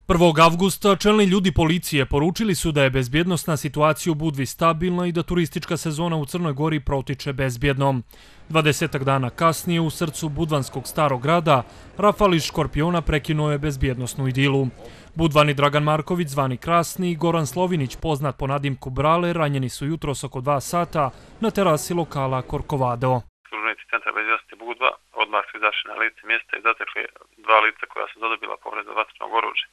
1. avgusta čelni ljudi policije poručili su da je bezbjednosna situacija u Budvi stabilna i da turistička sezona u Crnoj Gori protiče bezbjedno. 20 dana kasnije u srcu budvanskog starog grada rafal iz škorpiona prekinuo je bezbjednosnu idilu. Budvani Dragan Marković, zvani Krasni, i Goran Slovinić, poznat po nadimku Brale, ranjeni su jutros oko 2 sata na terasi lokala Korkovado. Službenici Centra bezbjednosti Budva odmah su izašli na lice mjesta i zatekli 2 lica koja su zadobila povredu vatrenog oružja.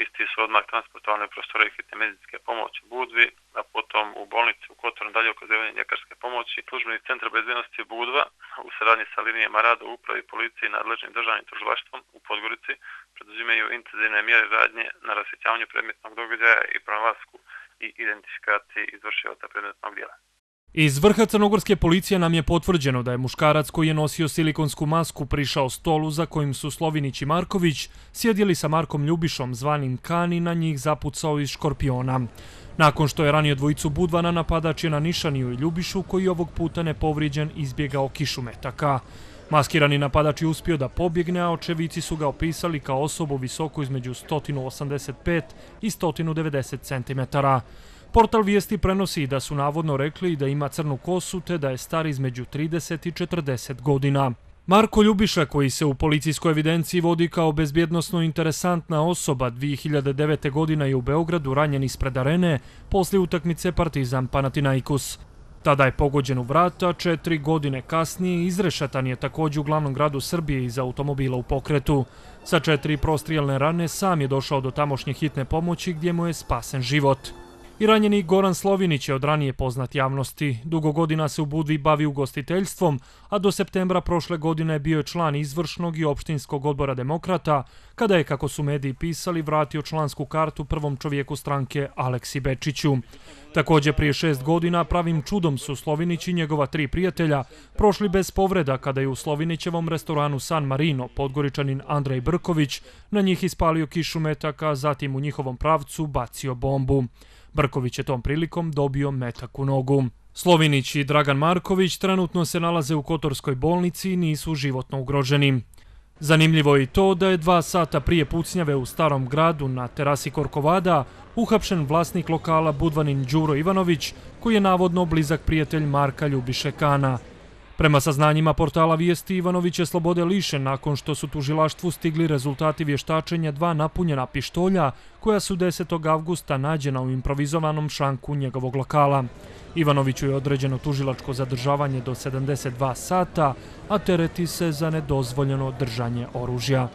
Isti su odmah transportovani u prostorije hitne medicinske pomoći u Budvi, a potom u bolnici u Kotoru dalje okazivanje ljekarske pomoći. Službenici Centra bezbjednosti Budva u saradnji sa linijama rada u upravi policije i nadležnim državnim tužilaštvom u Podgorici preduzimaju intenzivne mjere radnje na rasvjetljavanju predmetnog događaja i pronalasku i identifikaciji izvršioca predmetnog djela. Iz vrha crnogorske policije nam je potvrđeno da je muškarac koji je nosio silikonsku masku prišao stolu za kojim su Slovinić i Marković sjedjeli sa Markom Ljubišom, zvanim Kani, na njih zapucao iz škorpiona. Nakon što je ranio dvojicu Budvana, napadač je na Nišaniju i Ljubišu, koji ovog puta nepovrijeđen izbjegao kišu metaka. Maskirani napadač je uspio da pobjegne, a očevici su ga opisali kao osobu visoku između 185 i 190 cm. Portal Vijesti prenosi da su navodno rekli da ima crnu kosu te da je star između 30 i 40 godina. Marko Ljubiša, koji se u policijskoj evidenciji vodi kao bezbjednosno interesantna osoba, 2009. godina je u Beogradu ranjen ispred arene poslije utakmice Partizan Panathinaikos. Tada je pogođen u vrat, a 4 godine kasnije izrešetan je također u glavnom gradu Srbije iz automobila u pokretu. Sa 4 prostrijelne rane sam je došao do tamošnje hitne pomoći gdje mu je spasen život. I ranjeni Goran Slovinić je od ranije poznat javnosti. Dugo godina se u Budvi bavi ugostiteljstvom, a do septembra prošle godine bio je član izvršnog i opštinskog odbora Demokrata, kada je, kako su mediji pisali, vratio člansku kartu prvom čovjeku stranke Aleksi Bečiću. Također prije 6 godina pravim čudom su Slovinić i njegova 3 prijatelja prošli bez povreda kada je u Slovinićevom restoranu San Marino Podgoričanin Andrej Brković na njih ispalio kišu metaka, zatim u njihovom pravcu bacio bombu. Brković je tom prilikom dobio metak u nogu. Slovinić i Dragan Marković trenutno se nalaze u Kotorskoj bolnici i nisu životno ugroženi. Zanimljivo je i to da je 2 sata prije pucnjave u Starom gradu na terasi Korkovada uhapšen vlasnik lokala Budvanin Đuro Ivanović, koji je navodno blizak prijatelj Marka Ljubiše Kana. Prema saznanjima portala Vijesti, Ivanović je slobode lišen nakon što su tužilaštvu stigli rezultati vještačenja 2 napunjena pištolja koja su 10. avgusta nađena u improvizovanom šanku njegovog lokala. Ivanoviću je određeno tužilačko zadržavanje do 72 sata, a tereti se za nedozvoljeno držanje oružja.